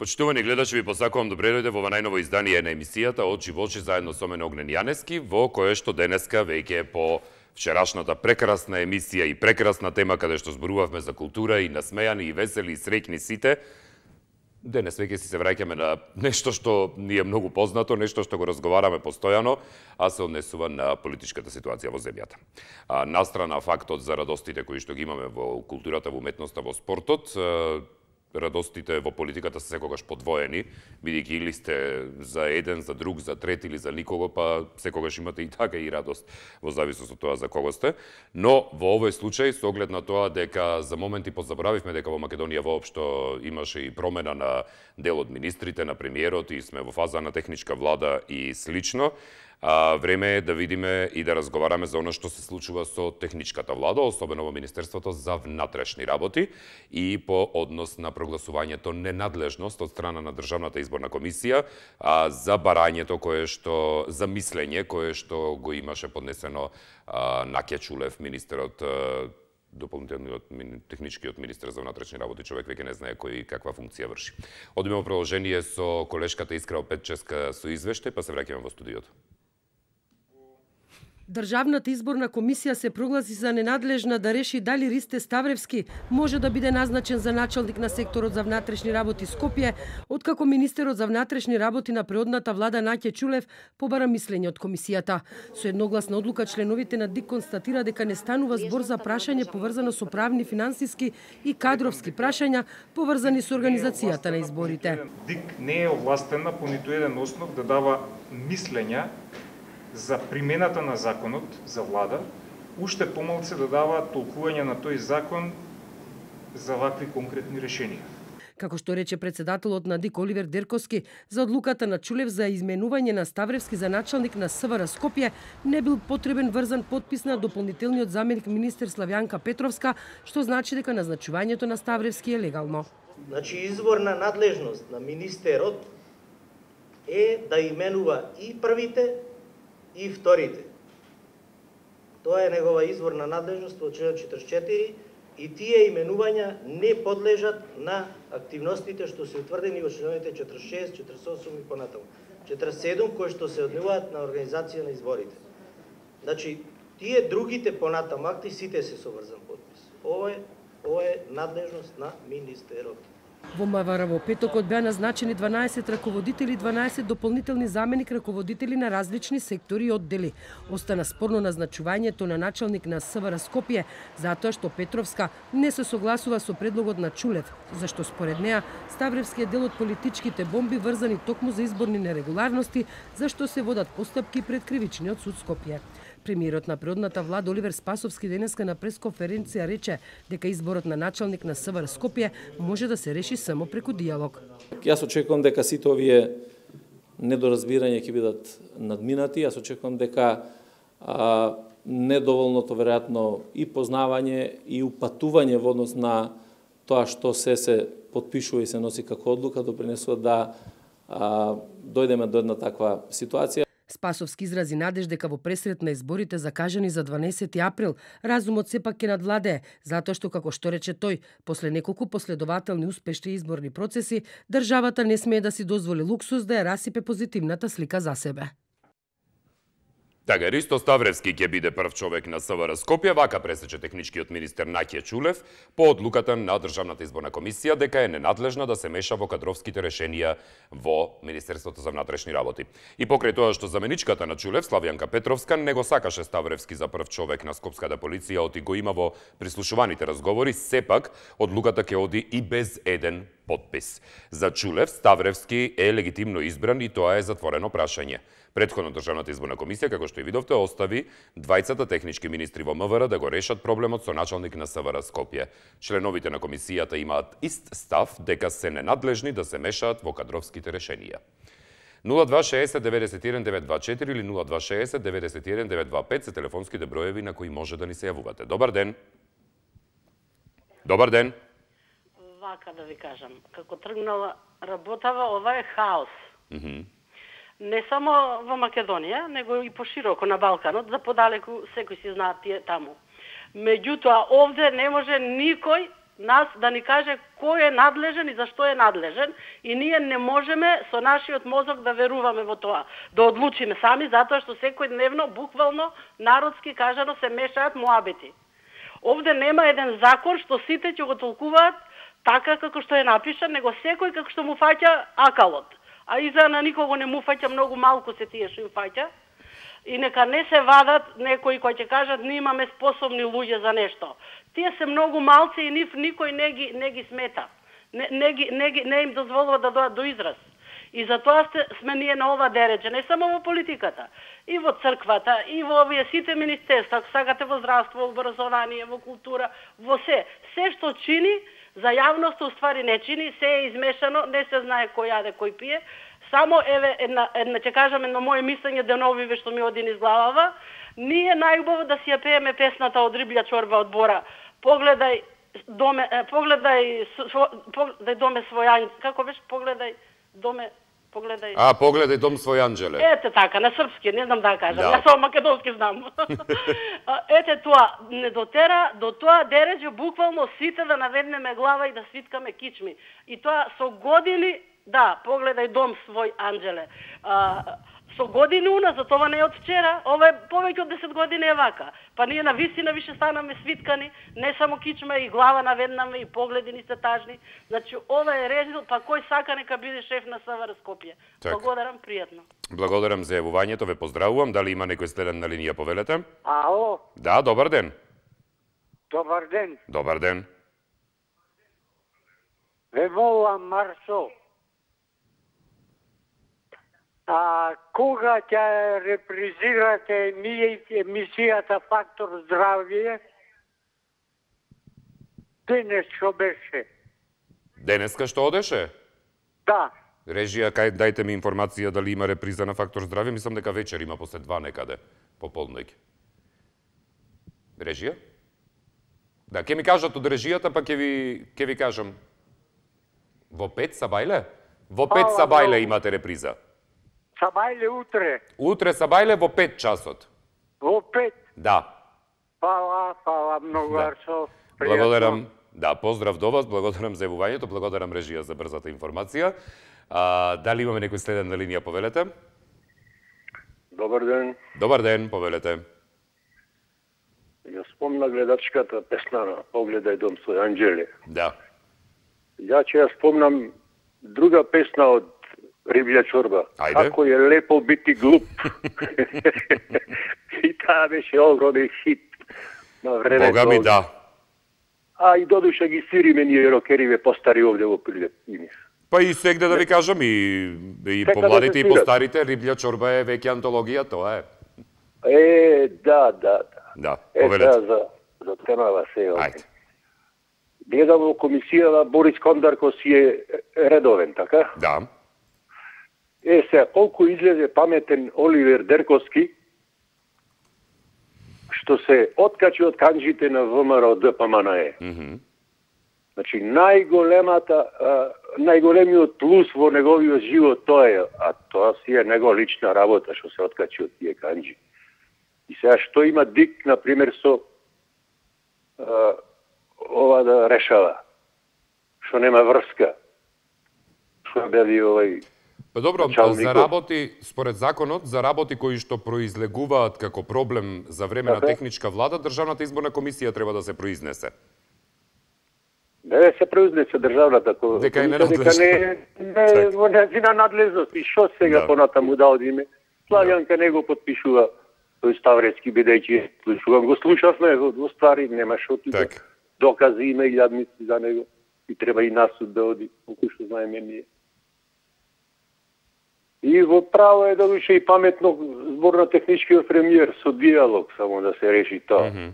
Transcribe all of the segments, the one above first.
Почитувани гледачи, ви посакувам добре дојде во ова најново издание на емисијата Очи во очи заедно со мене Огнен Јанески, во кое што денеска веќе по вчерашната прекрасна емисија и прекрасна тема каде што зборувавме за култура и насмејани и весели и среќни сите, денес веќе си се враќаме на нешто што ни е многу познато, нешто што го разговараме постојано, а се однесува на политичката ситуација во земјата. Настрана фактот за радостите кои што ги имаме во културата, во уметноста, во спортот, радостите во политиката се секогаш подвоени, бидејќи или сте за еден, за друг, за трет или за никого, па секогаш имате и така и радост во зависност од тоа за кого сте. Но во овој случај, со оглед на тоа дека за моменти позаборавивме дека во Македонија воопшто имаше и промена на дел од министрите, на премиерот и сме во фаза на техничка влада и слично, време е да видиме и да разговараме за оно што се случува со техничката влада, особено во Министерството за внатрешни работи и по однос на прогласувањето ненадлежност од страна на Државната изборна комисија за барањето кое што за мислење кое што го имаше поднесено Наќа Чулев, министерот дополнителниот техничкиот министер за внатрешни работи, човек веќе не знае кој каква функција врши. Одиме во продолжение со колешката Искра Петческа со извештај, па се враќаме во студиото. Државната изборна комисија се прогласи за ненадлежна да реши дали Ристе Ставревски може да биде назначен за началник на секторот за внатрешни работи Скопје, откако министерот за внатрешни работи на предходната влада Наќа Чулев побара мислење од комисијата. Со едногласна одлука членовите на ДИК констатира дека не станува збор за прашање поврзано со правни, финансиски и кадровски прашања поврзани со организацијата на изборите. ДИК не е овластена по ниту еден основ да дава мислења за примената на законот за влада, уште помалце да дава толкување на тој закон за вакви конкретни решенија. Како што рече председателот на ДИК Оливер Дерковски, за одлуката на Чулев за изменување на Ставревски за началник на СВР Скопје не бил потребен врзан подпис на дополнителниот заменик министер Славјанка Петровска, што значи дека назначувањето на Ставревски е легално. Значи изборна надлежност на министерот е да именува и првите и вторите. Тоа е негова изборна надлежност во член 44 и тие именувања не подлежат на активностите што се утврдени во членовите 46, 48 и понатаму. 47 кои што се однесуваат на организација на изборите. Значи, тие другите понатаму акти сите се со врзан подпис. Ова е надлежност на министерот. Во МВР во петокот беа назначени 12 раководители и 12 дополнителни заменик раководители на различни сектори и оддели. Остана спорно назначувањето на началник на СВР Скопје, затоа што Петровска не се согласува со предлогот на Чулев, зашто според неа Ставревски е дел од политичките бомби врзани токму за изборни нерегуларности, зашто се водат постапки пред Кривичниот суд Скопје. Премиерот на предходната влада Оливер Спасовски денеска на пресконференција рече дека изборот на началник на СВР Скопје може да се реши само преку диалог. Јас очекувам дека сите овие недоразбирања ќе бидат надминати. Јас очекувам дека недоволното веројатно и познавање и упатување во однос на тоа што се потпишува и се носи како одлука допринесува да дојдеме до една таква ситуација. Спасовски изрази надеж дека во пресрет на изборите закажани за 12 април, разумот сепак ќе надвладее, затоа што, како што рече тој, после неколку последователни успешни изборни процеси, државата не смее да си дозволи луксус да ја расипе позитивната слика за себе. Така, Ристо Ставревски ќе биде прв човек на СВР Скопје, вака пресече техничкиот министер Наќа Чулев по одлуката на Државната изборна комисија дека е ненадлежна да се меша во кадровските решенија во Министерството за внатрешни работи. И покрај тоа што заменичката на Чулев, Славјанка Петровска, не го сакаше Ставревски за прв човек на скопската полиција, оти го има во прислушуваните разговори, сепак одлуката ќе оди и без еден подпис. За Чулев, Ставревски е легитимно избран и тоа е затворено прашање. Претходно Државната изборна комисија, како што и видовте, остави двајцата технички министри во МВР да го решат проблемот со началник на СВР Скопје. Членовите на комисијата имаат ист став дека се ненадлежни да се мешаат во кадровските решенија. 0260 91 924 или 0260 91 925 се телефонските броеви на кои може да ни се јавувате. Добар ден. Добар ден. Вака да ви кажам, како тргнала работава, ова е хаос. Не само во Македонија, него и пошироко на Балканот, за подалеку секој си знаат тие таму. Меѓутоа, овде не може никој нас да ни каже кој е надлежен и зашто е надлежен, и ние не можеме со нашиот мозок да веруваме во тоа, да одлучиме сами, затоа што секојдневно, буквално, народски кажано, се мешаат муабети. Овде нема еден закон што сите ќе го толкуваат така како што е напишан, него секој како што му фаќа акалот. А иза на никого не му фаќа, многу малку се тие што им фаќа. И нека не се вадат некои кои ќе кажат ние имаме способни луѓе за нешто. Тие се многу малци и никој не ги смета. Не им дозволува да дојдат до израз. И затоа сме ние на ова дереđе, не само во политиката, и во црквата, и во овие сите министерства, ако сакате во здравство, во образование, во култура, во се. Се што чини, за јавноста уствари не чини, се е измешано, не се знае кој јаде, кој пие. Само, една ќе кажам, едно моje мислење деновиве што ми оди низ главава, ние најубаво да си ја пееме песната од Риблја чорба од Бора. Погледај доме свој анđел. Како беше? Погледај дом свој анđеле. Ете така, на српски, не знам да кажам. Јас само македонски знам. Ете тоа, не дотера до тоа дереđе буквално сите да наведнеме глава и да свиткаме кичми. И тоа со години, да, погледај дом свој анđеле. Со години уназад, ова не е од вчера, ова е повеќе од 10 години е вака. Па ние на вистина више станаме свиткани, не само кичма и глава наведнаме и погледи ни се тажни. Значи ова е резултат, па кој сака нека биде шеф на СВР Скопје. Благодарам, пријатно. Благодарам за јавувањето, ве поздравувам. Дали има некој следен на линија, повелете? Ало? Да, добар ден. Добар ден. Добар ден. Ве молам, Марсо, кога ќе репризирате емисијата Фактор здравје? Денес што беше? Денеска што одеше? Да. Режија, дајте ми информација дали има реприза на Фактор здравје. Мислам дека вечер има после 2 некаде, пополноќ. Режија? Да, ќе ми кажат од режијата, па ќе ви кажам. Во 5 Сабајле? Во 5 Сабајле имате реприза. Сабајле утре. Утре Сабајле во 5 часот. Во 5? Да. Фала многу, Арсо. Благодарам. Да, поздрав до вас, благодарам за јавувањето, благодарам режија за брзата информација. Дали имаме некој следен на линија, повелете? Добар ден. Добар ден, повелете. Ја спомна гледачката песна на Погледај дом свој анđеле. Да. Ја ќе ја спомнам друга песна од Риблја чорба. Ајде. Како е лепо бити глуп. И таа беше огромен хит на времето. Бога ми да. А и додуша ги свириме ние рокериве постари овде во Прилеп. Па и сегде да ви кажам, и помладите и постарите, Риблја чорба е веќе антологија, тоа е. Да. Да, повелете. За темава се. Ајде. Гледам во комисијава Борис Кондарко си е редовен, така? Да. Сега, колку излезе паметен Оливер Дерковски, што се откачи од канџите на ВМРО ДПМНЕ. Значи, најголемиот плюс во неговиот живот тоа е, а тоа си е него лична работа, што се откачи од тие канџи. И сега, што има Дик, например, со ова да решава? Што нема врска? Што беви овај... Па добро, за работи, според законот, за работи кои што произлегуваат како проблем за време на техничка влада, Државната изборна комисија треба да се произнесе. Не се произнесе државната комисија. Дека е ненадлежна. Не во нејзина надлежност. И што сега понатаму да одиме? Славјанка не го подпишува тој Ставрецки, бидејќи го слушавме, во ствари нема што тука. Докази има и јадници за него. И треба и нас да оди, колку што знаеме ние. И во право е да више и паметно збор на техничкиот премиер со диалог, само да се реши тоа.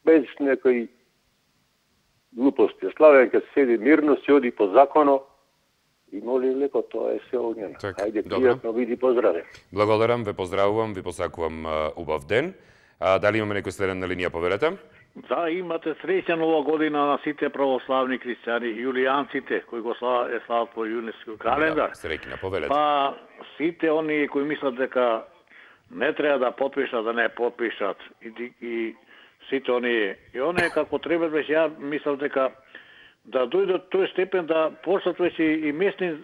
Без некои глупости. Славјанка седи мирно, се оди по законо и моли леко, тоа е се огнено. Ајде, пријатно биди, поздраве. Благодарам, ве поздравувам, ви посакувам убав ден. Дали имаме некој следен на линија, повелете? Да, имате среќна нова година на сите православни христијани, јулијанците, кои го слават по јунески календар. Да, среќна, повелете. Па, сите оние кои мислат дека не треба да подпишат, да не подпишат, и сите оние, и оние како треба, беше, ја мислам дека да дојде до тој степен да почнат веќе и местни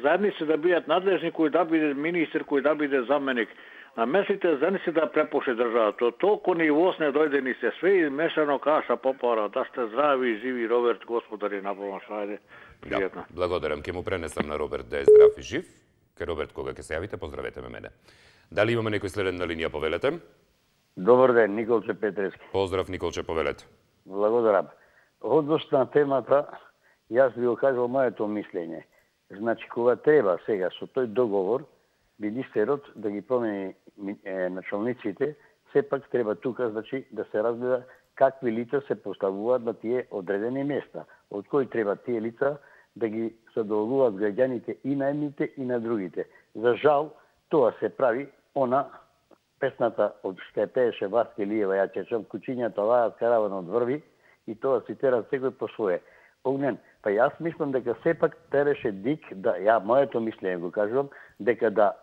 заедници да бидат надлежни, кој да биде министер, кој да биде заменик. На местните заедници да препуши државата. Толку нивост не дојде ни се све измешано каша попара. Да сте здрави и живи, Роберт, господари на помаш. Ајде, пријатно. Да, благодарам. Ке му пренесам на Роберт да е здрав и жив. Ке Роберт, кога ќе се јавите, поздравете ме мене. Дали имаме некој следен на линија, повелете? Добар ден, Николче Петрески. Поздрав, Николче, повелете. Благодарам. Односно на темата, јас би го кажал моето мислење. Значи, кога треба сега со тој договор, министерот да ги промени началниците, сепак треба тука, значи, да се разгледа какви лица се поставуваат на тие одредени места, од кои треба тие лица да ги задоволуваат граѓаните и на едните и на другите. За жал, тоа се прави она песната од што пееше Васка Илиева, ја чечам, кучињата лајат, караванот врви, и тоа цитира секој по свое. Огнен, па јас мислам дека сепак требаше ДИК, да, ја моето мислење го кажувам, дека да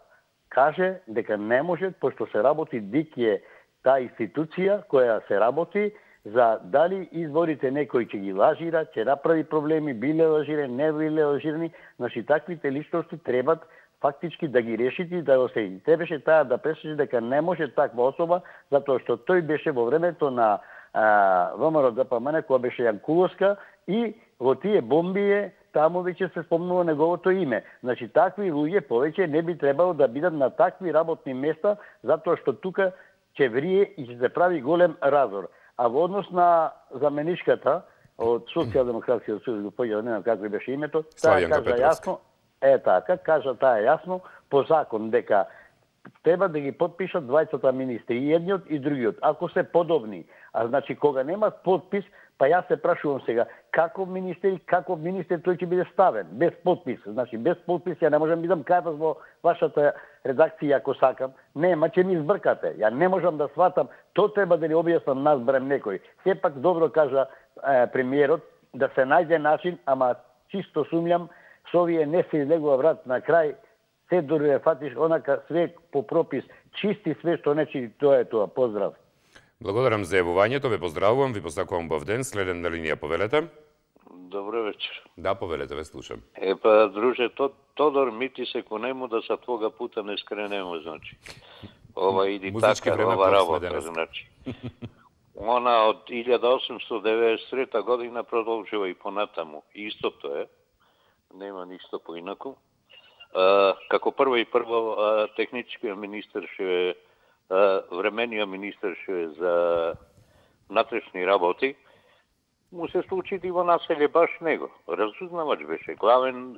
каже дека не може, пошто се работи, ДИК е таа институција која се работи за дали изборите некој ќе ги лажира, ќе направи проблеми, биле лажирани, не биле лажирани, значи таквите личности требат фактички да ги решите, да го се требаше таа да пресече дека не може таква особа, затоа што тој беше во времето на ВМРО ДПМН, која беше Јанкуловска, и во тие бомбие таму веќе се спомнува неговото име. Значи, такви луѓе повеќе не би требало да бидат на такви работни места, затоа што тука ќе врие и ќе се прави голем разор. А во однос на заменичката од Социјалдемократскиот сојуз, го поѓа, не знам како беше името, таа кажа јасно, кажа таа јасно по закон дека треба да ги подпишат двајцата министри, и едниот и другиот, ако се подобни. А значи, кога немат подпис, па јас се прашувам сега, каков министер тој ќе биде ставен, без подпис. Значи, без подпис ја не можам бидам кајпас во вашата редакција, ако сакам. Нема, ќе ми избркате. Ја не можам да сватам, тоа треба да ни објаснам нас, барем некој. Сепак добро кажа премиерот, да се најде начин, ама чисто сумјам, со овие не се излегува врат на крај, се дори фатиш онака све по пропис, чисти све што нечи, тоа е тоа. Поздрав. Благодарам за јавувањето, ве поздравувам, ви посакувам убав ден. Следен на линија, повелете. Добро вечер. Да, повелете, ве слушам. Епа, друже, Тодор мити се конему да са твога пута не скренемо, значи. Ова иди така, ова работа, значи. Она од 1893 година продолжува и понатаму. Истото е, нема ништо поинаку. Како прво техничкиот министер ше времениот министер ше за внатрешни работи, му се случи во населе баш него. Разузнавач беше, главен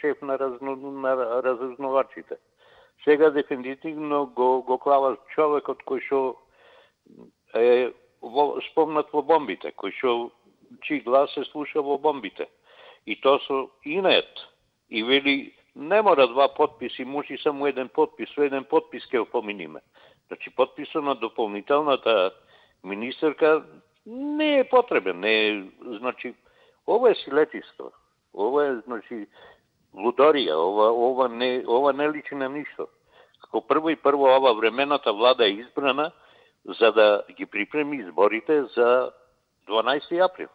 шеф на разузнавачите. Сега дефинитивно го клава човекот кој што е спомнат во бомбите, кој што чиј глас се слуша во бомбите. И тоа со инет. И вели, не мора два подписи, може само еден подпис, со еден подпис ќе поминиме. Значи, подписот на дополнителната министерка не е потребен, не е, значи, ова е силетиство, ова е, значи, лудорија, ова не личи на ништо. Како прво ова времената влада е избрана за да ги припреми изборите за 12 април.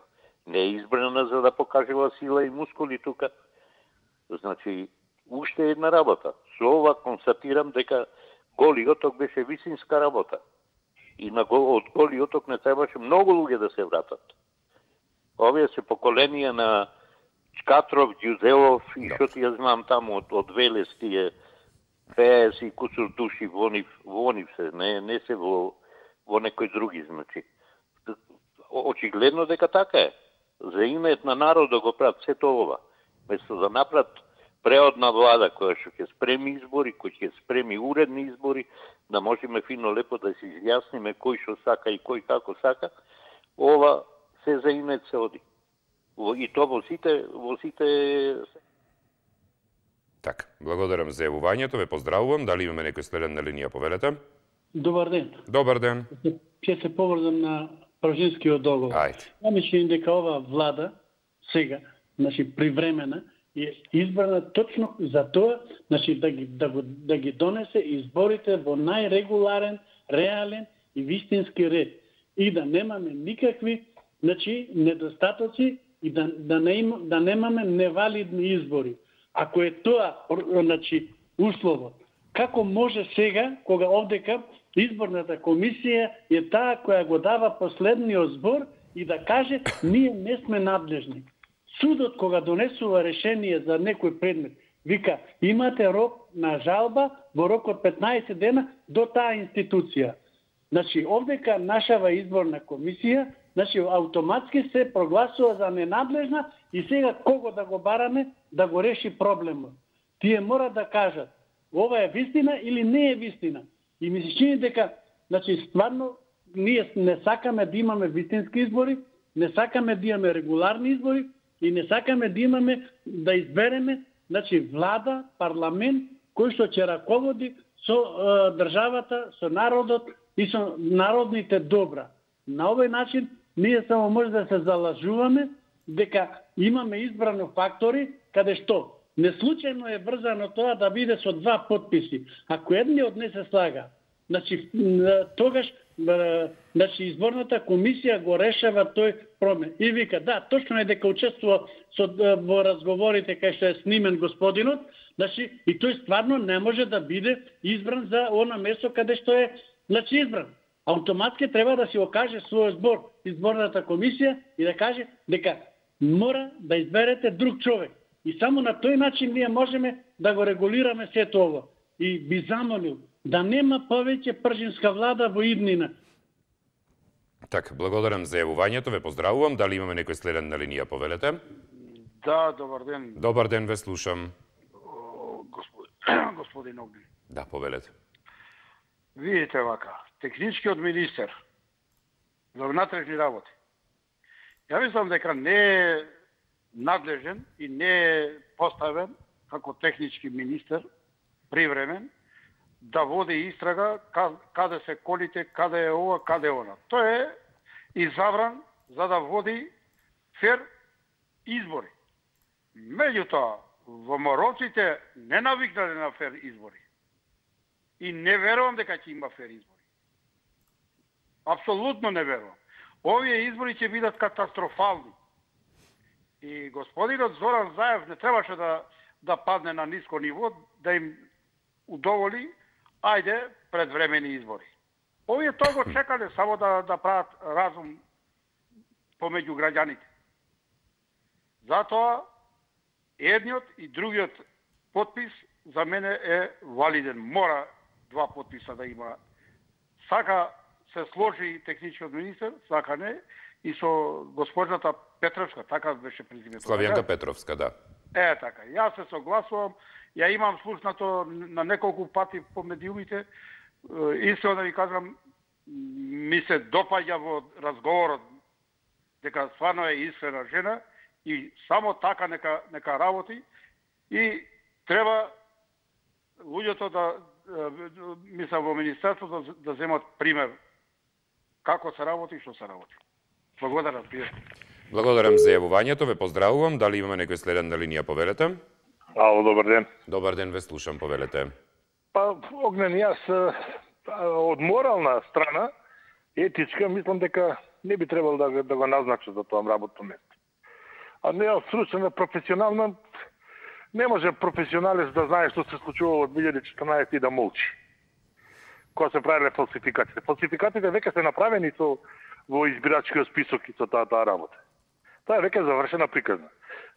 Не е избрана за да покажува сила и мускули тука. Значи, уште една работа. Со ова констатирам дека Голи оток беше висинска работа. И од Голи оток не требаше многу луѓе да се вратат. Овие се поколенија на Чкатров, Ѓузелов и што ти ја знам таму од Велес тие 50 и кусур души во нив се, не се во некој други, значи. Очигледно дека така е. За имејот на народ да го прават сето ова. Место да направат преодна влада која што ќе спреми избори, кој ќе спреми уредни избори, да можеме фино лепо да се изјасниме кој што сака и кој како сака, ова се за инет се оди. И то во сите... Така, благодарам за јавувањето, ве поздравувам. Дали имаме некој следен на линија, повелете? Добар ден. Добар ден. Ќе се поврзам на Пржинскиот договор. Ајде. Ја мислам дека ова влада сега, значи привремена, е избрана точно за тоа, значи да ги донесе изборите во најрегуларен, реален и вистински ред и да немаме никакви, значи, недостатоци и да немаме невалидни избори. Ако е тоа, значи, условот, како може сега, кога овдека изборната комисија е таа која го дава последниот збор и да каже ние не сме надлежни. Судот кога донесува решение за некој предмет, вика имате рок на жалба во рок од 15 дена до таа институција. Значи, овдека нашава изборна комисија, значи, автоматски се прогласува за ненадлежна и сега кого да го бараме да го реши проблемот. Тие мора да кажат ова е вистина или не е вистина. И ми се чини дека, значи, стварно, ние не сакаме да имаме вистински избори, не сакаме да имаме регуларни избори и не сакаме да имаме, да избереме, значи, влада, парламент, кој што ќе раководи со државата, со народот и со народните добра. На овој начин ние само може да се залажуваме дека имаме избрано фактори каде што неслучајно е врзано тоа да биде со 2 потписи. Ако едниот не се слага, значи тогаш значи изборната комисија го решава тој промен. И вика, да, точно е дека учествува во разговорите кај што е снимен господинот, значи и тој стварно не може да биде избран за она место каде што е, значи, избран. Автоматски треба да си окаже својот збор изборната комисија и да каже дека мора да изберете друг човек. И само на тој начин ние можеме да го регулираме сето ово. И би замолил да нема повеќе пржинска влада во иднина. Така, благодарам за јавувањето, ве поздравувам. Дали имаме некој следен на линија, повелете? Да, добар ден. Добар ден, ве слушам. Господин Огнен. Да, повелете. Видите вака, техничкиот министер за внатрешни работи. Ја мислам дека не е надлежен и не е поставен како технички министер привремен да води истрага каде се колите, каде е ова, каде е она. Тој е изабран за да води фер избори. Меѓутоа, во Мороците не навикнале на фер избори. И не верувам дека ќе има фер избори. Апсолутно не верувам. Овие избори ќе бидат катастрофални. И господинот Зоран Заев не требаше да падне на ниско ниво, да им удоволи, ајде, предвремени избори. Овие тоа го чекале само да прават разум помеѓу граѓаните. Затоа, едниот и другиот потпис за мене е валиден. Мора 2 потписа да има. Сака се сложи техничкиот министер, сака не, и со госпожата Петровска, така беше презимето. Славјанка Петровска, да. Така, јас се согласувам, ја имам слушнато на неколку пати по медиумите, исто да ви кажам, ми се допаѓа во разговорот дека стварно е искрена жена и само така нека работи и треба луѓето мислам во министерството да земат пример како се работи и што се работи. Благодарам, пријатно. Благодарам за јавувањето, ве поздравувам. Дали имаме некој следен на линија, повелете? Ало, добар ден. Добар ден, ве слушам, повелете. Па, Огнен, јас од морална страна, етичка, мислам дека не би требало да го назначат за тоа работно место. А не од стручна, професионална, не може професионалец да знае што се случувало од 2014 и да молчи. Кога се правиле фалсификациите. Фалсификациите веќе се направени во избирачкиот список и со таа работа. Тоа е веќе завршена приказна.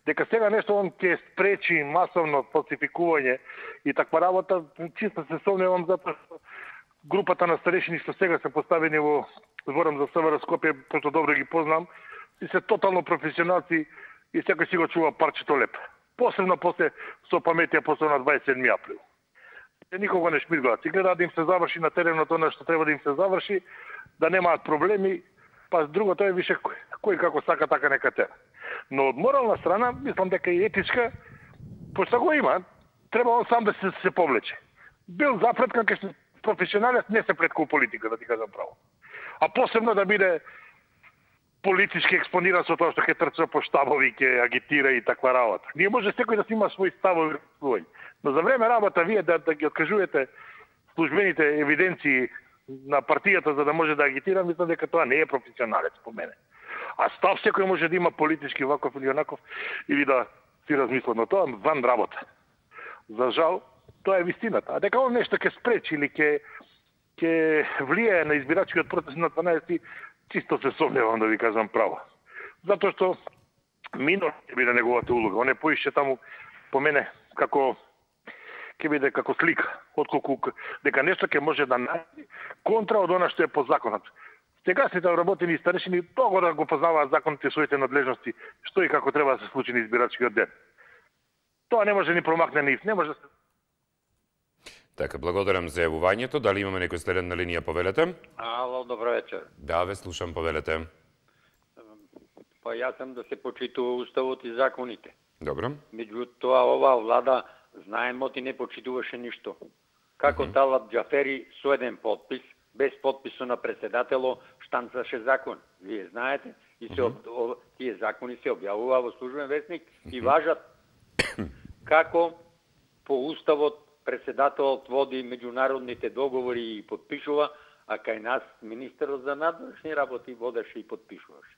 Дека сега нешто он ќе спречи масовно фалсификување и таква работа, чисто се сомневам затоа што групата на старешини што сега се поставени во зборам за СВР Скопје, пошто добро ги познам, и се тотално професионалци и секој си го чува парчето леп. Посебно после со паметија после на 27 април. Никого не шмиргаат. И гледаат да им се заврши на теренот она што треба да им се заврши, да немаат проблеми, па другото е више кој како сака така нека тера. Но од морална страна, мислам дека и етичка, пошто го има, треба он сам да се повлече. Бил запред како професионалец, не се пред политика, да ти кажам право. А посебно да биде политички експониран со тоа што ќе трча по штабови, ќе агитира и таква работа. Ние може секој да си има свој ставови, но за време работа вие да ги откажувате службените евиденции на партијата за да може да агитира, мислам дека тоа не е професионалец по мене. А став секој може да има политички ваков или онаков, или да си размисла, но тоа ван работа. За жал, тоа е вистината. А дека он нешто ќе спречи или ќе влијае на избирачкиот процес на 12, чисто се сомневам да ви кажам право. Затоа што минор ќе биде неговата улога. Он е поише таму, по мене, како ќе биде како слика, отколку дека нешто ќе може да најде контра од она што е по законот. Сегашните работени старешини того да го познаваат законите и своите надлежности, што и како треба да се случи на избирачкиот ден. Тоа не може ни промакне нив, не може да се... Така, благодарам за јавувањето. Дали имаме некој следен на линија, повелете? Ало, добро вечер. Да, ве слушам, повелете. Па јас сам да се почитува уставот и законите. Добро. Меѓутоа, оваа влада, знаемо, ти не почитуваше ништо. Како Талат Џафери со еден подпис, без подписот на председатело, штанцаше закон. Вие знаете, и тие закони се објавува во службен весник и важат. Како по уставот председателот води меѓународните договори и подпишува, а кај нас министерот за надворешни работи водеше и подпишуваше.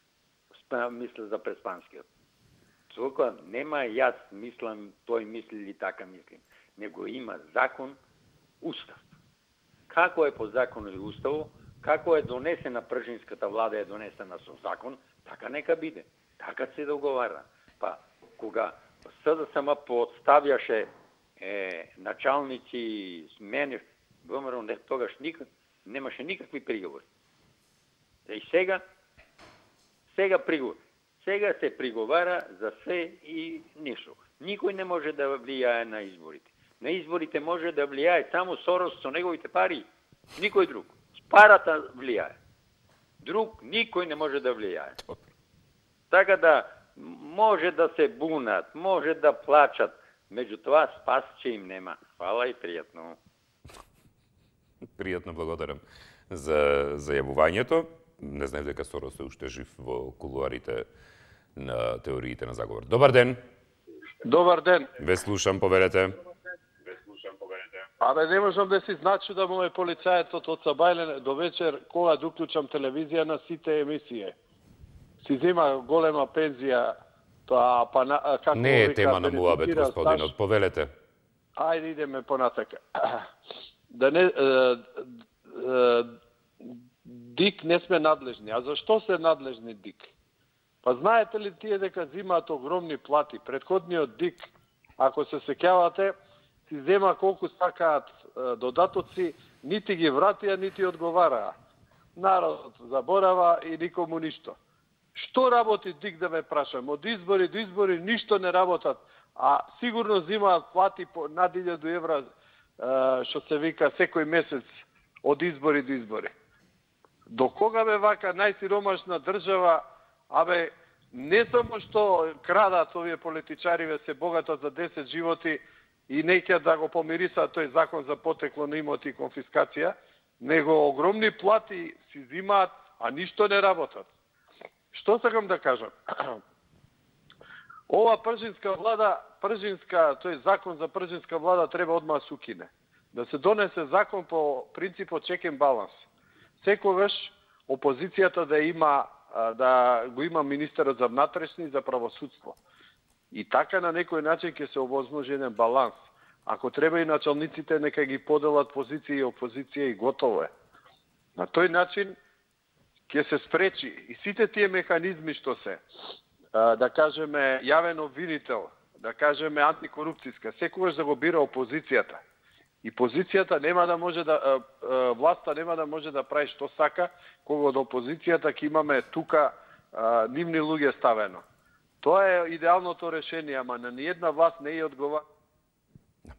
Мисля за преспанскиот. Толку нема јас мислам, тој мисли или така мислим. Него има закон, устав. Како е по закон или уставо, како е донесена пржинската влада, е донесена со закон, така нека биде. Така се договара. Па, кога СДСМ подставјаше началници, смени, ВМРО тогаш немаше никакви приговори. И сега приговор. Сега се приговара за се и ништо. Никој не може да влијае на изборите. На изборите може да влијае само Сорос со неговите пари. Никој друг. С парата влијае. Друг никој не може да влијае. Така да може да се бунат, може да плачат, меѓутоа спас че им нема. Фала и пријатно. Пријатно, благодарам за јавувањето. Не знаев дека Сорос е уште жив во кулуарите на теориите на заговор. Добар ден. Добар ден. Ве слушам, повелете. Абе, не можам да си значи да му е полицајецот од Сабајле до вечер, кога да уклучам телевизија на сите емисије. Си зема голема пензија, тоа како не е тема на муабет, господинот, повелете. Ајде, идеме понатака. Да не... ДИК не сме надлежни. А зашто се надлежни ДИК? Па знаете ли тие дека зимаат огромни плати? Предходниот ДИК, ако се сеќавате, си зема колку сакаат додатоци, нити ги вратија, нити одговараа. Народот заборава и никому ништо. Што работи ДИК, да ме прашам? Од избори до избори ништо не работат, а сигурно зимаат плати по над 1000 евра, што се вика секој месец од избори до избори. До кога бе вака најсиромашна држава, абе, не само што крадат овие политичари, се богатат за 10 животи и не ќе да го помирисаат тој закон за потекло на имоти и конфискација, него огромни плати си зимаат, а ништо не работат. Што сакам да кажам? Ова пржинска влада, тој закон за пржинска влада треба одма да се укине. Да се донесе закон по принципот check and balance. Секогаш опозицијата да го има министерот за внатрешни и за правосудство. И така на некој начин ќе се овозможи еден баланс. Ако треба и началниците нека ги поделат позиција и опозиција и готово е. На тој начин ќе се спречи и сите тие механизми што се, да кажеме јавен обвинител, да кажеме антикорупцијска, секогаш да го бира опозицијата. И позицијата нема да може да, власта нема да може да прави што сака, кога од опозицијата ќе имаме тука нивни луѓе ставено. Тоа е идеалното решение, ама на ниедна власт не е одговара.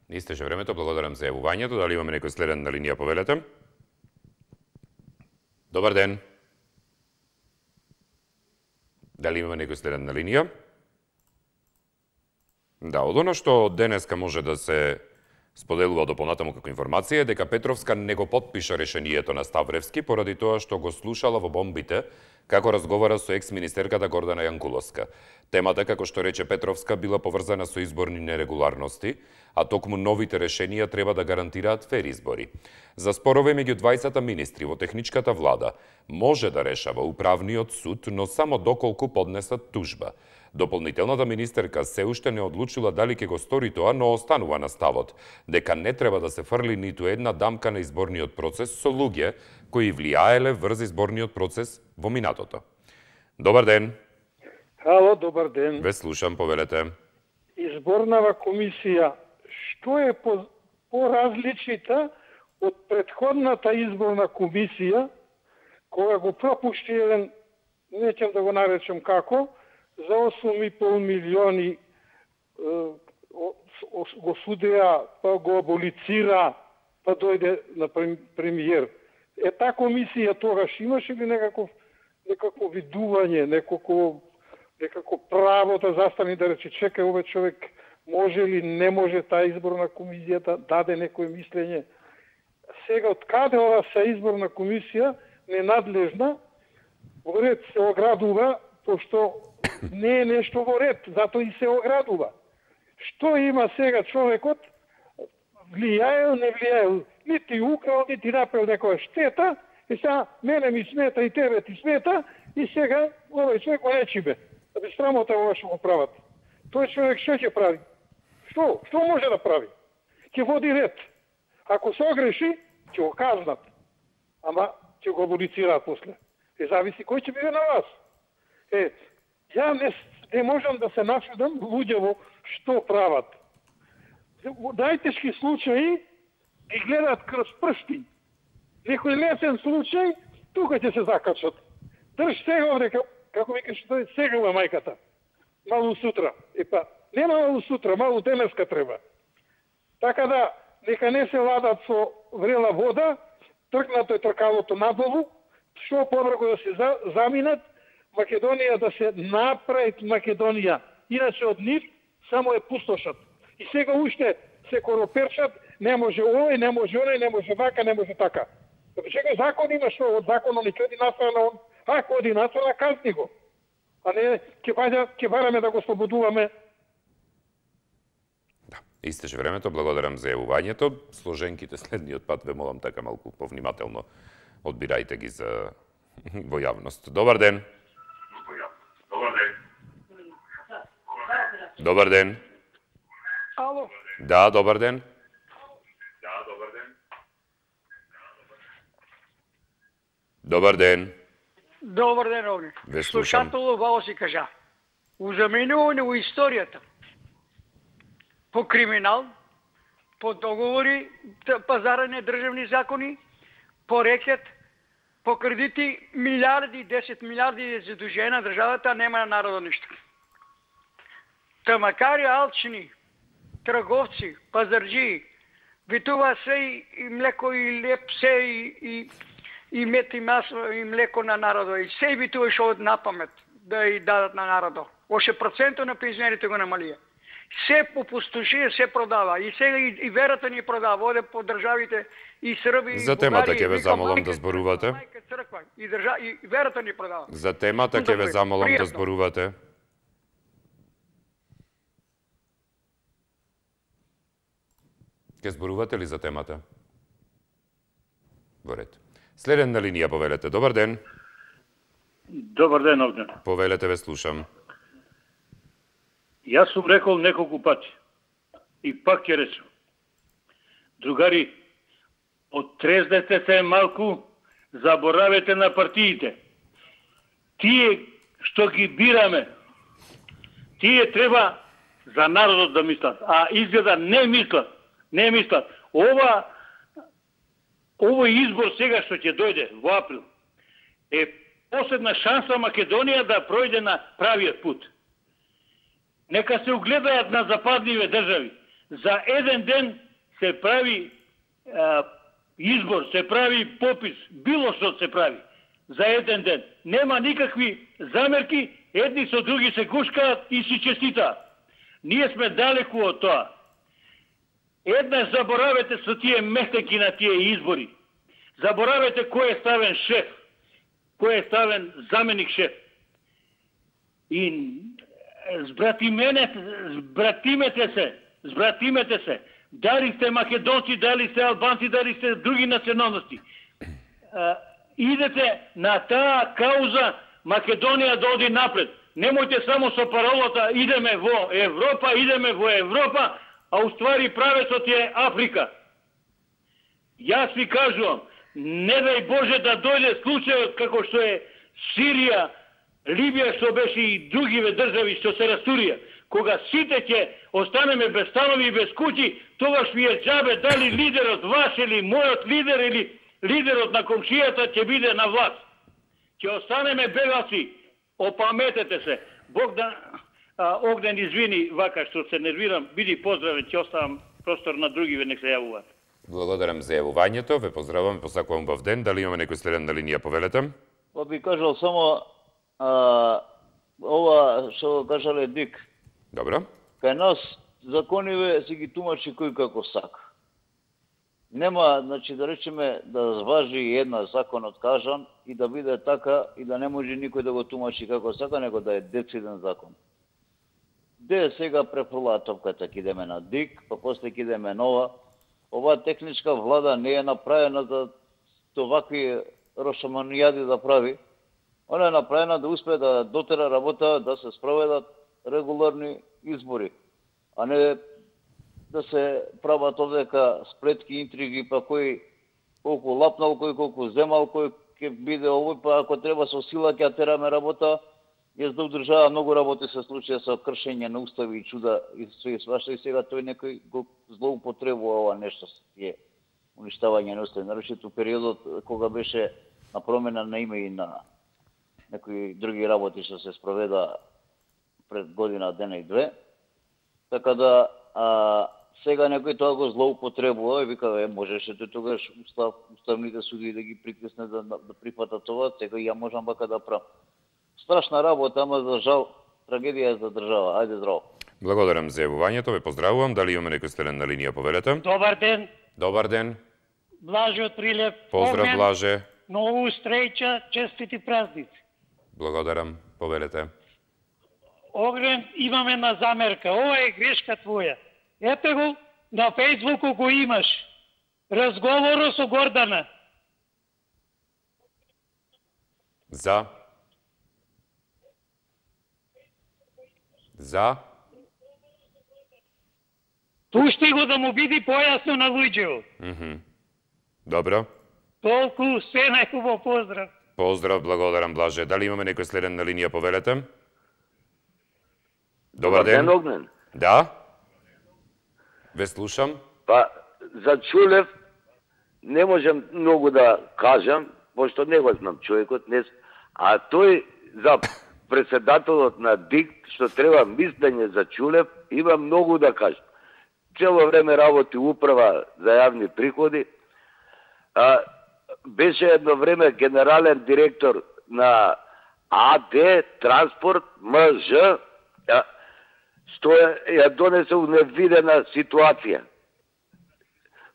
Истече времето, благодарам за јавувањето. Дали имаме некој следен на линија, повелете? Добар ден. Дали имаме некој следен на линија? Да, од оно што денеска може да се споделува дополнатаму како информација дека Петровска не го потпиша решението на Ставревски поради тоа што го слушала во бомбите како разговара со екс-министерката Гордана Јанкуловска. Темата, како што рече Петровска, била поврзана со изборни нерегуларности, а токму новите решенија треба да гарантираат фер избори. За спорове меѓу 20 министри во техничката влада може да решава управниот суд, но само доколку поднесат тужба. Дополнителната министерка се уште не одлучила дали ќе го стори тоа, но останува на ставот дека не треба да се фрли ниту една дамка на изборниот процес со луѓе кои влијаеле врз изборниот процес во минатото. Добар ден. Ало, добар ден. Ве слушам, повелете. Изборнава комисија, што е по-различита од претходната изборна комисија, кога го пропушти еден, неќем да го наречем како, за 8,5 милиони го судеа, па го аболицира, па дојде на премиер. Таа комисија тогаш имаше ли некакво видување, некако право да застани да рече чекај овој човек може ли не може таа изборна комисија да даде некој мислење. Сега од каде ова се изборна комисија ненадлежна во ред се оградува, пошто не е нешто во ред, затоа и се оградува. Што има сега човекот? Влијаел, не влијаел, нити украл, нити направил некоја штета, и сега мене ми смета и тебе ти смета, и сега овој човек го нечиме. Да би срамота ова што го прават. Тој човек што ќе прави? Што може да прави? Ќе води ред. Ако се огреши, ќе го казнат. Ама ќе го аболицираат после. Зависи кој ќе биде на вас. Ја не можам да се начудам луѓево што прават. Најтешки случаи ги гледаат крз пршти. Некој лесен случај, тука ќе се закачат. Држ сега овде, како викаш тој, сега ова мајката. Малу сутра. Нема малу сутра, малу денеска треба. Така да, нека не се ладат со врела вода, тркнато е тркалото надолу, што побрзо да се заминат, Македонија да се направи Македонија. Иначе од нив само е пустошат. И сега уште се короперчат, не може овој, не може оној, не може вака, не може така. Чека закон има што од законот ни ќе оди настрана он, ако оди настрана, казни го. А не ќе бараме да го слободуваме. Да, истече времето, благодарам за јавувањето. Сложенките следниот пат ве молам така малку повнимателно одбирајте ги за во јавност. Добар ден. Добар ден. Ало. Да, добар ден. Добар ден. Добар ден, овде. Ве слушам. Слушатело вао си кажа. Узаменуване во историјата. По криминал, по договори, пазарање државни закони, по рекет, по кредити, милиарди, 10 милиарди задужена државата, нема на народот ништо. Та макар и алчни, трговци, пазарджии, витува се и млеко и леп, се и мет и масло и млеко на народот. И се витува шо на памет да и дадат на народот. Оше проценто на пензионерите го намалија. Се попустоши, се продава. И сега и верата ни продава. Оде по државите и Срби, за темата ќе ве замолам да зборувате. И верата ни продава. За темата ќе ве замолам да зборувате. Ке зборувате ли за темата? Во ред. Следен на линија, повелете. Добар ден. Добар ден, овде. Повелете, ве слушам. Јас сум рекол неколку пати. И пак ќе речем. Другари, оттрезнете се малку, заборавете на партиите. Тие што ги бираме, тие треба за народот да мислат, а изгледа не мислат. Не мислат. Овој избор сега што ќе дојде во април е последна шанса Македонија да пројде на правиот пут. Нека се угледаат на западниве држави. За еден ден се прави избор, се прави попис, било што се прави. За еден ден. Нема никакви замерки, едни со други се гушкаат и си честитаат. Ние сме далеку од тоа. Еднаш заборавете со тие мехтеки на тие избори. Заборавете кој е ставен шеф, кој е ставен заменик шеф. И збратимете се, дали сте македонци, дали сте албанци, дали сте други националности. Идете на таа кауза Македонија да оди напред. Немојте само со паролата идеме во Европа, а уствари правецот е Африка. Јас ви кажувам, не дај Боже да дојде случајот како што е Сирија, Либија, што беше и другиве држави што се растурија. Кога сите ќе останеме без станови и без куќи, тогаш ви е џабе дали лидерот ваш или мојот лидер или лидерот на комшијата ќе биде на власт. Ќе останеме бегалци. Опаметете се. Бог да Огнен извини вака што се нервирам. Биди поздравен, ќе оставам простор на другиве нек се јавуваат. Благодарам за јавувањето, ве поздравувам, посакувам бав ден. Дали имаме некој следен на линија, повелете? Па би кажал само ова што кажале Дик. Добро. Кај нас закониве си ги тумачи кој како сака. Нема, значи, да речеме, да зважи една законот кажан и да биде така и да не може никој да го тумачи како сака, него да е дециден закон. Де сега префрлаа топката, ке идеме на Дик, па после ке идеме нова. Оваа техничка влада не е направена за овакви рошаманијади да прави. Она е направена да успее да дотера работа, да се спроведат регуларни избори, а не да се прават овдека сплетки, интриги, па кој колку лапнал, кој колку земал, кој ќе биде овој, па ако треба со сила ќе тераме работа. Јас да одржава многу работи се случаја со кршење на устави и чуда и све свашта и сега тој некој го злоупотребува ова нешто е уништавање на устави. Нарочито периодот кога беше на промена на име и на некои други работи што се спроведа пред година, дена и две. Така да сега некој тоа го злоупотребува и вика, можеше тогаш уставните суди да ги притисне да прифатат това, сега ја можам бака да правам. Страшна работа, ама за жал трагедија за држава. Ајде здраво. Благодарам за јавувањето, ве поздравувам. Дали имаме некој следен на линија, повелете? Добар ден. Добар ден. Блаже од Прилеп. Поздрав, Огнен, Блаже. Нову стреќа, честити празници. Благодарам, повелете. Огнен, имаме една замерка. Ова е грешка твоја. Ете го, на Фејсбуку го имаш. Разговорот со Гордана. За. За. Пушти го да му биде појасно на луѓето. Добро. Толку, се најхубаво, поздрав. Поздрав, благодарам, Блаже. Дали имаме некој следен на линија, повелете? Добар ден. Огнен. Да. Ве слушам. Па, за Чулев не можам многу да кажам, пошто не го знам човекот, а тој за председателот на ДИК, што треба мислење за Чулев, има многу да каже. Цело време работи управа за јавни приходи, беше едно време генерален директор на АД Транспорт МЖ, што ја донесе у невидена ситуација.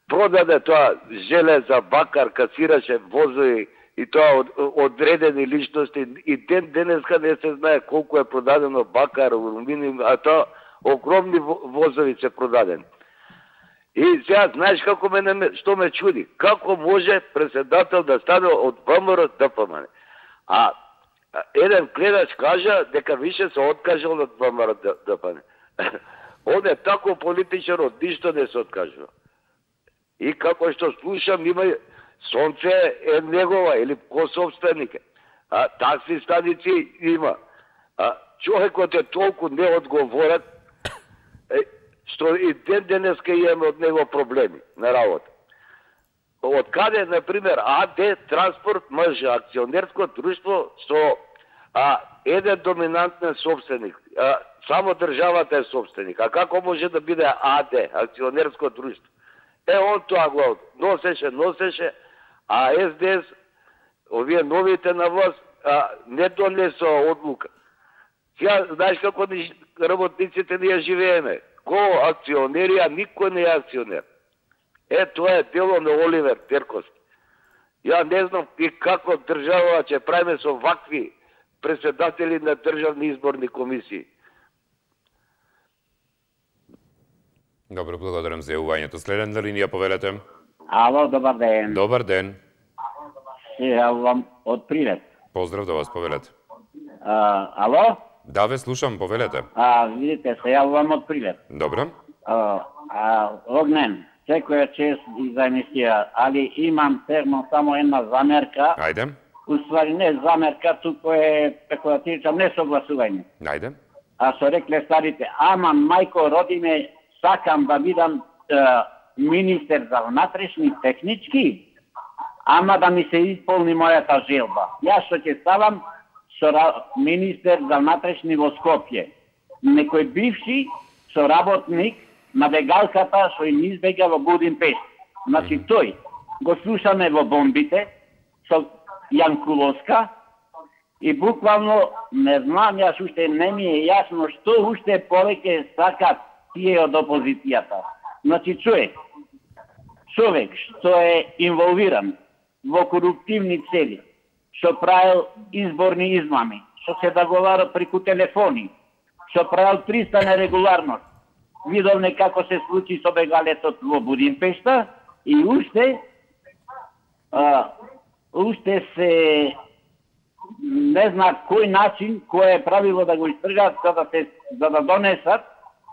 Продаде тоа железа, бакар, касираше возови и тоа одредени личности и денеска не се знае колку е продадено бакар, алуминиум, а тоа огромни возови се продадени. И сега знаеш како што ме чуди, како може председател да стане од ВМРО ДПМН. А еден гледач кажа дека више се откажал од ВМРО ДПМН. Он е тако политичар, од ништо не се откажува. И како што слушам, има сонце е негова или кособственик. Такси станици има. Човекот е толку неодговорен, што и денеска имаме од него проблеми на работа. Од каде, например, АД Транспорт МЖ, акционерско друштво со еден доминантен собственик, само државата е собственик. А како може да биде АД, акционерско друштво? Он тоа го носеше, а СДС, овие новите на власт, не донесоа одлука. Сега, знаеш како работниците ние живееме? Ко акционери, а никој не е акционер. Тоа е дело на Оливер Терковски. Ја не знам и како држава ќе правиме со вакви председатели на државни изборни комисии. Добро, благодарам за јавувањето. Следна линија, повелете. Ало, добар ден. Добар ден. Се јавувам од Прилеп. Поздрав да вас, повелете. Ало? Да, ве слушам, повелете. Видите, се јавувам од Прилеп. Добро. Огнен, секоја чест и за емисија, али имам само една замерка. Ајде. Уствари не замерка, туку е, како да ти речам, не согласување. Ајде. А со рекле старите, ама мајко роди ме, сакам да бидам министер за внатрешни технички, ама да ми се исполни мојата желба. Јас што ќе ставам министер за внатрешни во Скопје. Некој бивши соработник на бегалката што им избега во Будимпешт. Значи тој го слушаме во бомбите со Јанкуловска и буквално не знам, јас уште не ми е јасно што уште повеќе сакат тие од опозицијата. Значи човек што е инволвиран во коруптивни цели, што правил изборни измами, што се договара преку телефони, што правил 300 нерегуларност, видовме како се случи со бегалецот во Будимпешта и уште се не знам кој начин, кој е правило да го истргаат за да донесат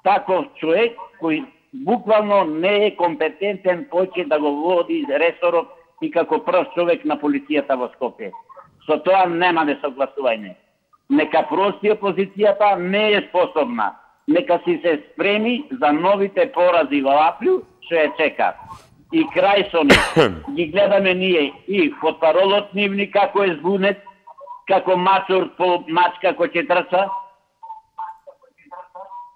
таков човек кој буквално не е компетентен поќе да го води ресорот и како прост човек на полицијата во Скопје. Со тоа нема да согласување. Нека прости опозицијата не е способна. Нека си се спреми за новите порази во април, што ја чека. И крај со нив. Ги гледаме ние и потпаролот нивни како е збунет, како мачор по мачка кој ќе трча.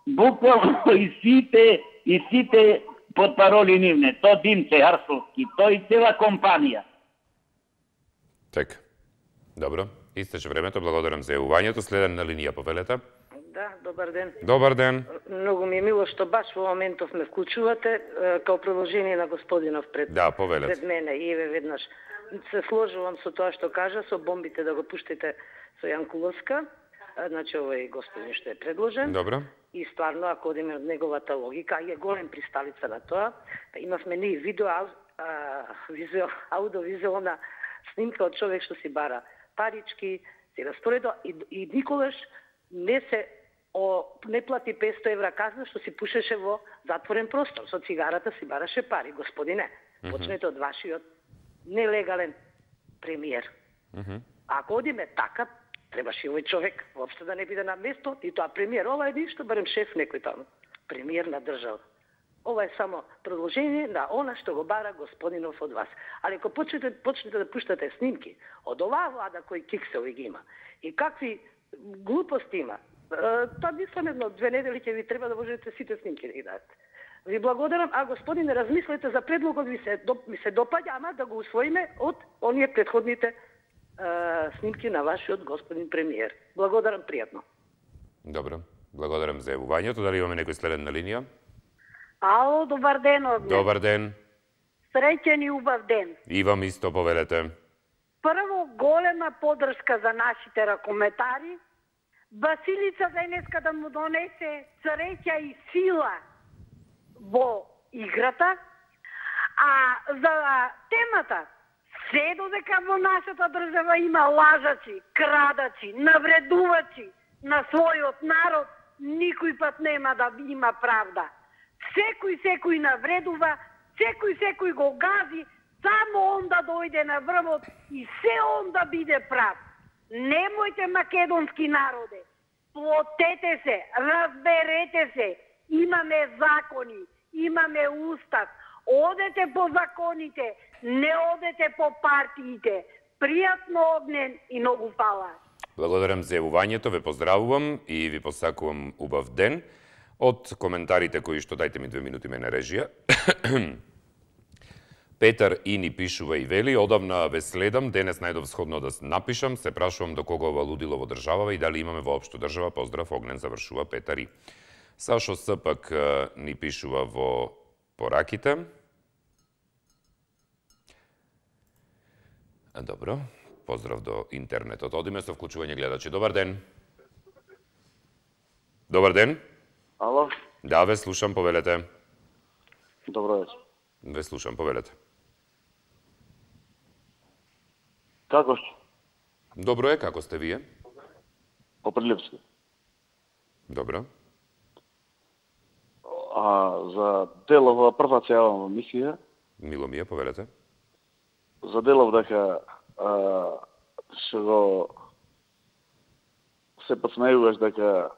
Буквално и сите потпароли нивне, то Димче Арсовски, тој и цела компанија. Така. Добро. Истече времето, благодарам за јавувањето. Следна линија, повелете. Да, добар ден. Добар ден. Многу ми е мило што баш во моментов ме вклучувате као продолжение на господинов пред мене. И веднаш се сложувам со тоа што кажа, со бомбите да го пуштите со Јанкуловска. Значи, овој господин што е предложен. Добро. И стварно, ако одиме од неговата логика, е голем присталица на тоа, имавме ние аудиовизуална снимка од човек што си бара парички, си распоредува и никогаш не плати 500 евра казна што си пушеше во затворен простор. Со цигарата си бараше пари, господине. Почнете од вашиот нелегален премиер. Ако одиме така, требаше овој човек воопшто да не биде на место, и тоа премиер. Ова е ништо, барем шеф некој таму. Премиер на држава. Ова е само продолжение на она што го бара господинов од вас. Али ако почнете да пуштате снимки од оваа влада кој киксови ги има и какви глупости има, тоа мислам 1-2 недели ќе ви треба да можете сите снимки да ги дадете. Ви благодарам, а господине, размислете за предлогот, ми се допаѓа, ама да го усвоиме од оние претходните снимки на вашиот господин премиер. Благодарам, пријатно. Добро, благодарам за јавувањето. Дали имаме некој следен на линија? Ало, добар ден, Огнен. Добар ден. Среќен и убав ден. И вам исто, повелете. Прво, голема подршка за нашите ракометари. Василица денеска да му донесе среќа и сила во играта. А за темата, се додека во нашата држава има лажаци, крадаци, навредувачи на својот народ, никој пат нема да има правда. Секој навредува, секој го гази, само он да дојде на врвот и се он да биде прав. Немојте, македонски народе, плотете се, разберете се, имаме закони, имаме устав, одете по законите, не одете по партиите. Пријатно, Огнен, и многу фала. Благодарам за јавувањето, ве поздравувам и ви посакувам убав ден. Од коментарите кои што, дајте ми 2 минути, мене режија. Петар И ни пишува и вели: одавна ве следам, денес најдов сходно да напишам, се прашувам до кога ова лудило во државава и дали имаме воопшто држава. Поздрав, Огнен, завршува Петар И. Сашо Спак ни пишува во пораките. Добро. Поздрав до интернетот. Одиме со вклучување гледачи. Добар ден. Добар ден. Ало? Да, ве слушам, повелете. Добро вечер. Ве слушам, повелете. Како сте? Добро е, како сте вие? Поприлепски. Добро. За делова прва цела мисија. Мило ми е, повелете. За делов дека што го се подсмејуваш дека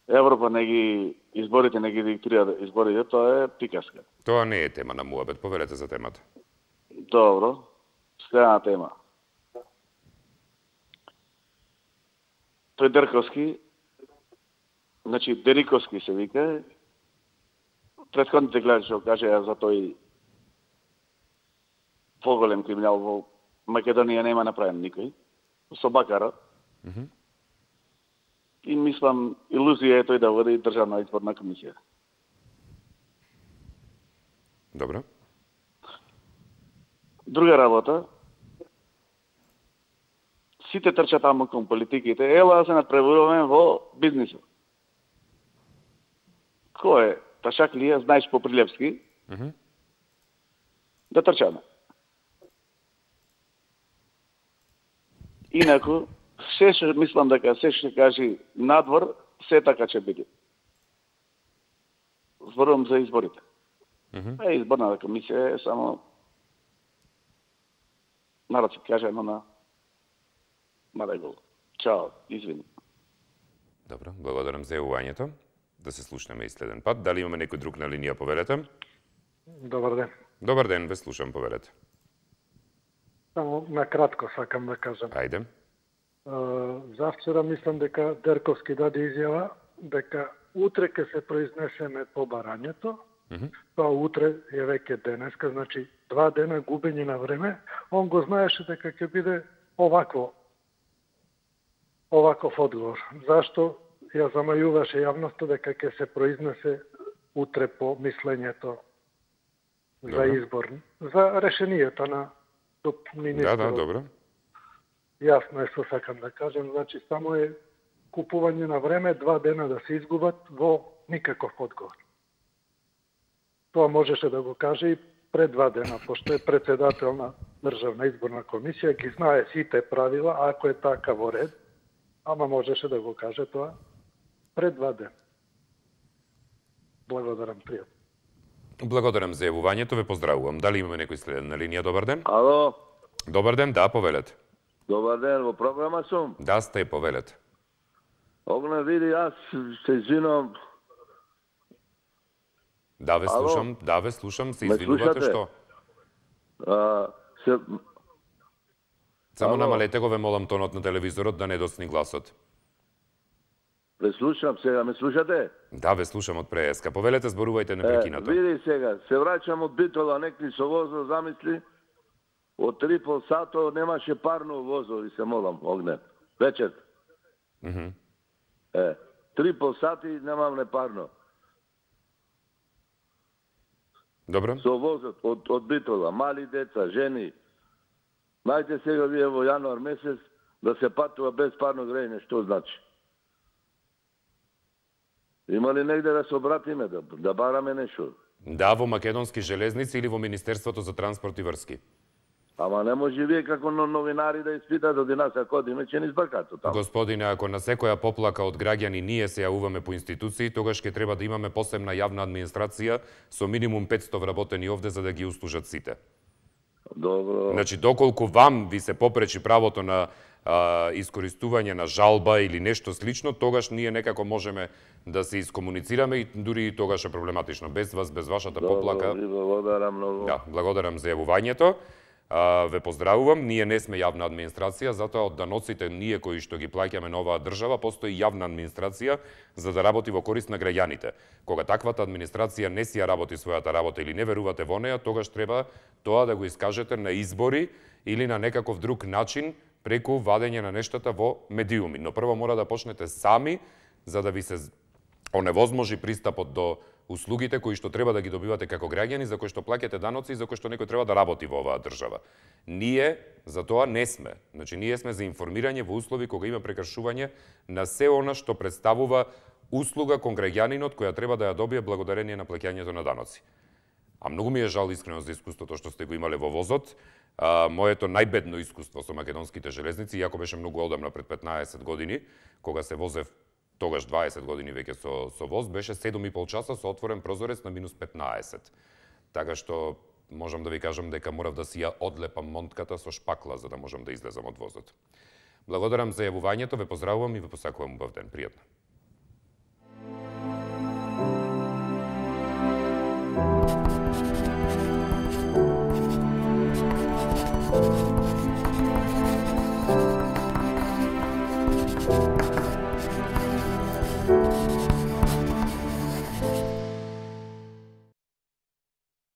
Европа не ги изборите, не ги диктира изборите, тоа е приказка. Тоа не е тема на муабет, повелете за темата. Добро, следна тема. Тој Дерковски, значи Дериковски се вика, претходните гледачи што кажа за тој поголем криминал во Македонија нема направен никој, со Бакара. И мислам, илузија е тој да води Државна изборна комисија. Добро. Друга работа, сите трчат таму кон политиките, ела да се надпреваруваме во бизнисот. Кој е? Ташак ли е? Знаеш по Прилепски? Да трчаме. Инаку, се што мислам дека се што кажи надвор, се така ќе биде. Зборувам за изборите. Изборната комисија е само народ се каже едно на регул. Чао, извини. Добро, благодарам за јавувањето. Да се слушнеме и следен пат. Дали имаме некој друг на линија, повелете? Добар ден. Добар ден, ве слушам, повелете. Само на кратко сакам да кажам. Ајде. Завчера мислам дека Дерковски даде изјава дека утре ќе се произнесеме по барањето. Тоа утре е веќе денеска, значи 2 дена губење на време. Он го знаеше дека ќе биде оваков одговор. Зашто ја замајуваше јавноста дека ќе се произнесе утре по мислењето за избор, за решението на министерот. Да, добро. Јасно е што сакам да кажем, значи само е купување на време, 2 дена да се изгубат во никаков одговор. Тоа можеше да го каже и пред 2 дена, пошто е председател на Државна изборна комисија, ги знае сите правила, ако е така во ред, ама можеше да го каже тоа пред 2 дена. Благодарам, пријатно. Благодарам за јавувањето, ве поздравувам. Дали имаме некој следен на линија? Добар ден. Ало. Добар ден, да, повелете. Добар ден, во програма сум. Да, сте, повелете. Огне, види, јас се извинам. Да, ве слушам, да, ве слушам, се извинувате што? Само намалете го, ве молам, тонот на телевизорот да не досни гласот. Ве слушам, сега ме слушате? Да, ве слушам од преска. Повелете, зборувајте непрекинато. Види сега, се враќам од Битола, некли со возо, замисли, од 3,5 сато немаше парно возо, ви се молам, Огне. Вечер. 3,5 сати немам непарно. Добро. Со возот од Битола, мали деца, жени. Најте сега вие во јануар месец да се патува без парно грејење, што значи? Има ли негде да се обратиме, да бараме нешто? Да, во Македонски железници или во Министерството за транспорт и врски. Ама не може вие како новинари да испитате од нас, ако одиме, ќе ни збркате таму. Господине, ако на секоја поплака од граѓани ние се јавуваме по институции, тогаш ќе треба да имаме посебна јавна администрација со минимум 500 вработени овде за да ги услужат сите. Добро. Значи, доколку вам ви се попречи правото на искористување на жалба или нешто слично, тогаш ние некако можеме да се искомуницираме и дури и тогаш е проблематично. Без вас, без вашата поплака... Благодарам многу. Да, благодарам за јавувањето. Ве поздравувам, ние не сме јавна администрација, затоа од даноците ние кои што ги плаќаме на оваа држава, постои јавна администрација за да работи во корист на граѓаните. Кога таквата администрација не си ја работи својата работа или не верувате во неја, тогаш треба тоа да го искажете на избори или на некаков друг начин преку вадење на нештата во медиуми. Но прво мора да почнете сами за да ви се оневозможи пристапот до услугите кои што треба да ги добивате како граѓани, за кои што плаќате даноци и за кои што некој треба да работи во оваа држава. Ние за тоа не сме. Значи, ние сме за информирање во услови кога има прекршување на се она што представува услуга кон граѓанинот која треба да ја добие благодарение на плаќањето на даноци. А многу ми е жал искрено за искуството што сте го имале во возот. Моето најбедно искуство со македонските железници, иако беше многу одамна пред 15 години, кога се возев тогаш 20 години веќе со воз, беше 7,5 часа со отворен прозорец на минус 15. Така што можам да ви кажам дека морав да си ја одлепам монтката со шпакла за да можам да излезам од возот. Благодарам за јавувањето, ве поздравувам и ве посакувам убав ден. Пријатно.